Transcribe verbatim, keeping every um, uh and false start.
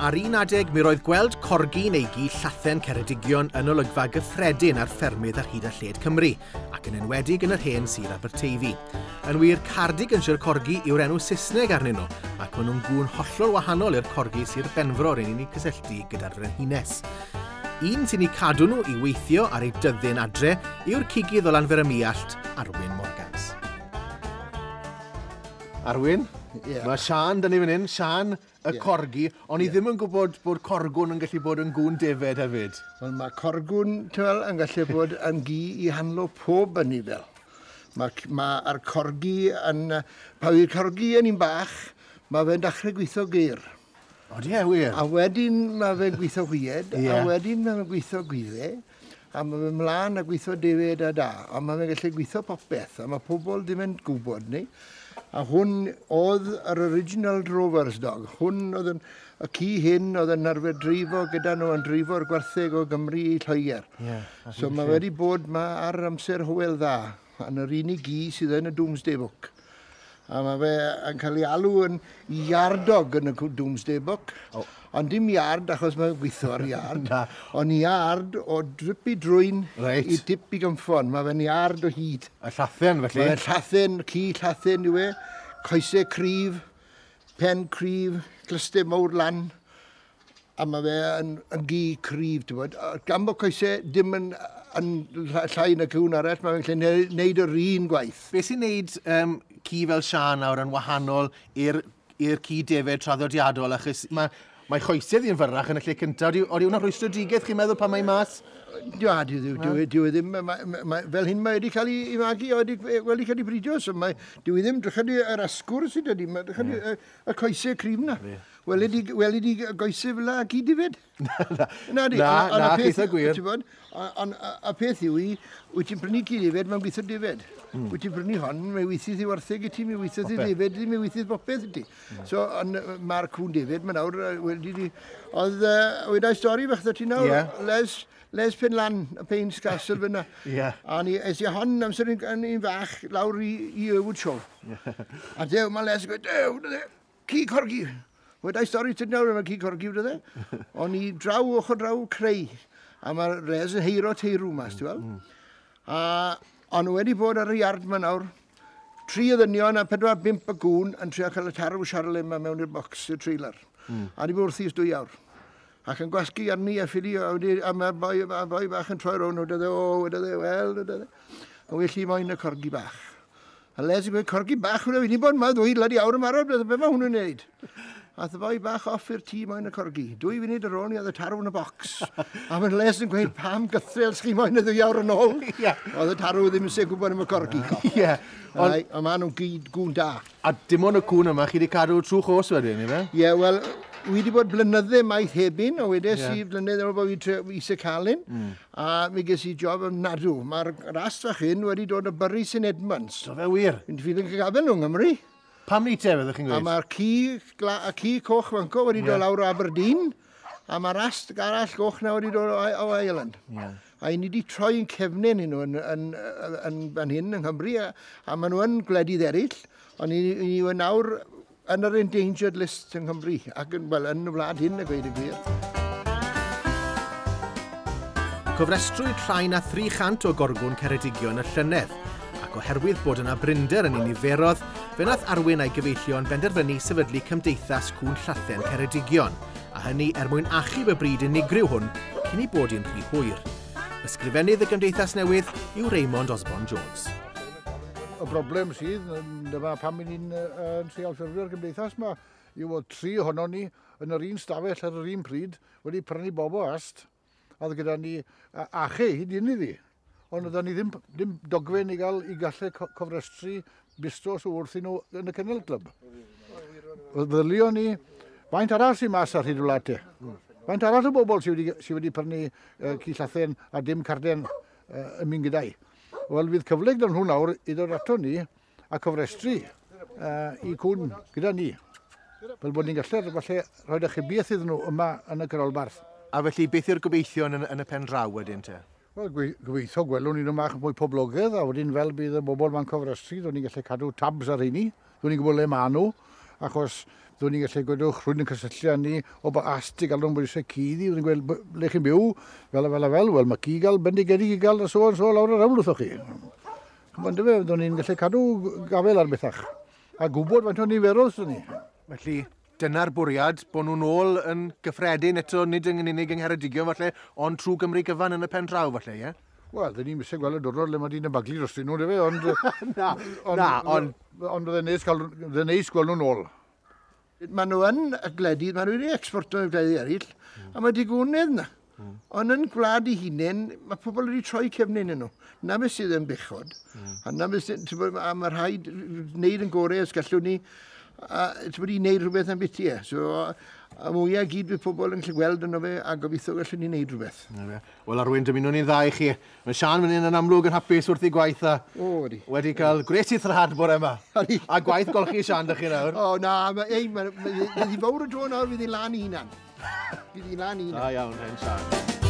Ar un adeg, mi roedd gweld corgi neu gi llathen Ceredigion yn olygfa gyffredin ar ffermydd ar hyd a lled Cymru, ac yn enwedig yn yr hen Sir Aberteifi. Yn wir, Cardiganshire Corgi yw'r enw Saesneg arnyn nhw, ac maen nhw'n gŵn hollol wahanol i'r corgi Sir Benfro rydyn ni'n cysylltu gyda'r frenhines. Un sy'n eu cadw nhw i weithio ar ei dyddyn adre yw'r cigydd o Lanfair-ym-Muallt, Arwyn Morgans. Arwyn, yeah. Mae Sian, dyn ni fan hyn, Sian y yeah. corgi, ond i yeah. ddim yn gwybod bod corgwn yn gallu bod yn gŵn defed hefyd. Wel, mae corgwn, ti'n fel, yn gallu bod yn gi i handlo pob anifail. Mae mae'r corgi yn... Pa yw'r corgi yn un bach, mae fe'n dechrau gweithio geir. O, di e, wir? A wedyn mae fe'n gweithio hwyed, yeah. a wedyn mae fe'n gweithio gwydde, a mae fe'n mlaen a gweithio defed a da. A mae fe'n gallu gweithio popeth, a mae pobl ddim yn gwybod ni. A hwn oedd yr original drover's dog. Hwn oedd yn, y ci hyn oedd yn arfer dreifo gyda nhw yn dreifo'r gwartheg o Gymru i Lloegr. Yeah, so mae wedi bod ma ar amser Hywel Dda, yn yr unig gi sydd yn y Domesday Book. A mae fe yn cael ei alw yn yard dog yn y Domesday Book. Oh. Ond dim yard achos mae'n gweithio ar yard. Ond yard o drip i drwyn right. i dip i gynffon. Mae fe'n yard o hyd. A llathen felly? Mae'n llathen, ci llathen yw e. Coesau cryf, pen cryf, clustau mawr lan. A mae fe yn, yn gi cryf, ti'n bod. Gan bod coesau dim yn, yn llai na cwn arall, mae fe'n gallu neud yr un gwaith. Be sy'n neud um, ci fel Sian nawr yn wahanol i'r i'r ci defed traddodiadol, achos mae, mae choesau yn fyrrach yn y lle cyntaf. Odi hwnna rhwystredigaeth chi'n meddwl pan mae mas? Dyw, dyw, dyw, dyw e ddim, ma, ma, fel hyn mae wedi cael ei magu, wedi, wedi cael ei bridio, so mae, dyw e ddim, drycha di yr asgwr sydd wedi, drycha di y, y coesau cryf na. Wel wedi, wel wedi goesau fel la ci defed. Na, na, di, na, na, eitha gwir. Ond a peth yw i, wyt ti'n prynu ci defed, mae'n gweithio defed. Mm. Wyt ti'n prynu hon, mae weithydd i wartheg i ti, mae weithydd i ddefed i ti, mae weithydd bopeth i ti. Mm. So, mae'r cwn defed, mae nawr, wedi di, oedd, wedai stori fach ti nawr, yeah. Les, Les Penlan, y Payne's Castle fyna. Yeah. A ni, es i hon amser yn un fach lawr i, i Erwood Show. Yeah. A dew, mae Les yn gweud, dew, ci corgi. Wedai stori ti nawr, mae ci corgi, wyd e. O'n i draw, ochr draw, creu. A mae Les yn heiro teirw mas, ti'n weld? Mm. A o'n nhw wedi bod ar y iard yma nawr, tri o ddynion a pedwar bump o gŵn yn trio cael y tarw Charlie yma mewn i'r bocs, i'r trailer. Mm. A ni bod wrthi ers dwy awr. Ac yn gwasgu arni a ffili, a, wedi, a mae'r boi, ma boi bach yn troi rownd, wedodd e, o, wedodd e, wel, wedodd e. A well i moyn y corgi bach. A Les yn gweud, corgi bach, wedodd e, wedi bod yma ddwy bloody awr yn barod, be mae hwnnw'n neud? Ath y boi bach off i'r tŷ moyn y corgi. Dwy funud ar ôl ni oedd y tarw yn y bocs. A mae'n Les yn gweud, pam gythrel chi moyn y ddwy awr yn ôl? Yeah. Oedd y tarw ddim yn gwybod am y corgi. Ie. Ond maen nhw'n gyd gŵn da. A dim ond y cŵn yma, chi wedi cadw trwy chos wedyn, ife? Ie, yeah, wel, wi wedi bod blynydde maith heb un, o wedes yeah. i blynydde bod fi eisiau cael un, mm. a mi ges i job ofnadw. Mae'r rast fach hyn wedi dod o Bury Saint Edmunds. Do fe wir? Fi'n ffili yn gafel nhw yng Nghymru. Pam ni te, fyddwch chi'n gweud? A mae'r ci, y ci coch fanco wedi dod yeah. lawr o Aberdeen, a mae'r ast arall goch na wedi dod o, o Ireland. Yeah. A ni wedi troi'n cefnau nhw yn, yn, yn, yn, yn hyn yng Nghymru, a, a maen nhw yn gwledydd eraill, ond ni, ni yw nawr yn yr endangered list yng Nghymru, ac yn, wel, yn y wlad hyn, a gweud y gwir. Cofrestrwyd rhai na thri chant o gorgwn Ceredigion y llynedd, ac oherwydd bod yna brinder yn ei niferodd, fe wnaeth Arwyn a'i gyfeillion benderfynu sefydlu Cymdeithas Cŵn Llathen Ceredigion, a hynny er mwyn achub y bryd unigryw hwn cyn ei bod hi'n rhy hwyr. Ysgrifennydd y Gymdeithas Newydd yw Raymond Osborne Jones. Y broblem sydd, dyma pam ni'n uh, trial ffurfio'r gymdeithas yma, yw bod tri ohonon ni yn yr un stafell ar yr un pryd wedi prynu bob o ast, a oedd gyda ni achu hyd un iddi. Ond oedden ni ddim, ddim dogfen i gael i gallu cofrestru bistros wrth i nhw yn y Kennel Club. Ddylio ni, faint arall sy'n mas ar hyd y wlad te? Faint arall o bobl sydd wedi, sy wedi prynu uh, ci llathen a dim carden uh, yn mynd gyda'i? Wel, fydd cyfle gyda nhw nawr i ddod ato ni a cofrestru uh, i cwn gyda ni. Fel bod ni'n gallu falle rhoi achubiaeth iddyn nhw yma yn y canolbarth. A felly, beth yw'r gobeithion yn, yn y pen draw wedyn te? Wel, gobeithio gwelwn ni nhw mach mwy poblogaidd, a wedyn fel bydd y bobl ma'n cofrestru, dwi'n ni'n gallu cadw tabs ar rheini, dwi'n ni'n gwybod le maen nhw, achos Ddwn ni'n gallu gwedwch rhywun yn cysylltu â ni o ba ast i gael nhw'n bod eisiau ci iddi, dwi'n gweld le chi'n byw, fel a fel a fel, wel mae ci gael, bendigedig i gael, a so on so lawr yr hewl wrthoch chi. Ch'mod yndyfe, byddwn ni'n gallu cadw gafel ar bethach, a gwybod faint o niferoedd sydd ni. Felly, dyna'r bwriad, bod nhw'n ôl yn gyffredin eto, nid yn unig yng Ngheredigion falle, ond trwy Gymru gyfan yn y pen draw falle, ie? Wel, dyn ni'n eisiau gweld y diwrnod le mae dyn yn baglu drostyn nhw, dyfe, ond... Na, ond, na, ond... Ond bydde'n neis, cael, bydde'n neis gweld nhw'n ôl. Maen nhw yn y gwledydd, maen nhw wedi exporto i'r gwledydd eraill, mm. a mae digonedd yna. Mm. Ond yn gwlad eu hunain, mae pobl wedi troi cefnyn nhw. Na beth sydd yn bechod. Mm. A na beth sydd, ti'n bod, a mae rhaid wneud yn gorau os gallwn ni, a ti'n bod, i wneud rhywbeth am byti e. So, a mwyaf gyd bydd pobl yn gallu gweld yno fe, a gobeithio gallwn ni wneud rhywbeth. Wel, Arwyn, dymunwn ni'n dda i chi. Mae Sian fan hyn yn amlwg yn hapus wrth ei gwaith a O, ydi. wedi cael gwres i thrad bore yma. Ydi. A gwaith golchi Sian, dych chi nawr. O, na, mae, ei, mae, mae, fydd hi fawr o dro nawr, fydd hi lan i hunan. Fydd hi lan i hunan. Da iawn, hen Sian.